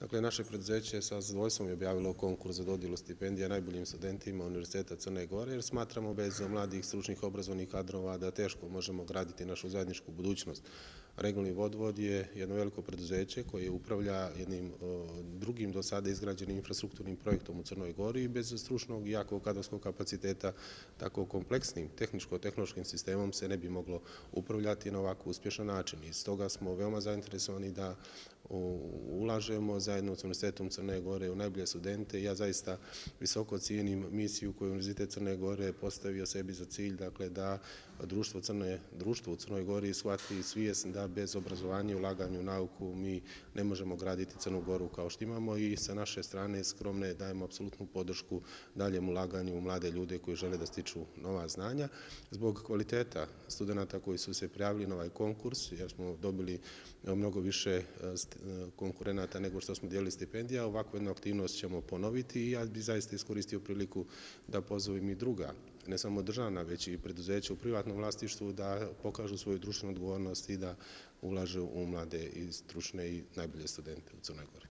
Dakle, naše preduzeće sa zadovoljstvom je objavilo konkurs za dodjelu stipendija najboljim studentima Univerziteta Crne Gore jer smatramo bez mladih stručnih obrazovnih kadrova da teško možemo graditi našu zajedničku budućnost. Regionalni vodovod je jedno veliko preduzeće koje upravlja jednim drugim do sada izgrađenim infrastrukturnim projektom u Crnoj Gori i bez stručnog i jakog kadrovskog kapaciteta tako kompleksnim tehničko-tehnološkim sistemom se ne bi moglo upravljati na ovako uspješan način. I stoga smo veoma zainteresovani da ulažemo zajedno s Univerzitetom Crne Gore u najbolje studente. Ja zaista visoko cijenim misiju koju Univerzitet Crne Gore postavio sebi za cilj, dakle da društvo u Crnoj Gori shvati svijest da bez obrazovanja i ulaganja u nauku mi ne možemo graditi Crnu Goru kao što imamo i sa naše strane skromne dajemo apsolutnu podršku daljem ulaganju u mlade ljude koji žele da stiču nova znanja. Zbog kvaliteta studenata koji su se prijavili na ovaj konkurs, jer smo dobili mnogo više konkurenata nego što smo dijelili stipendija, ovakvu jednu aktivnost ćemo ponoviti i ja bih zaista iskoristio priliku da pozovem i druga, ne samo državna, već i preduzeća u privatnom vlasništvu da pokažu svoju društvenu odgovornost i da ulažu u mlade i stručne i najbolje studente u Crnoj Gori.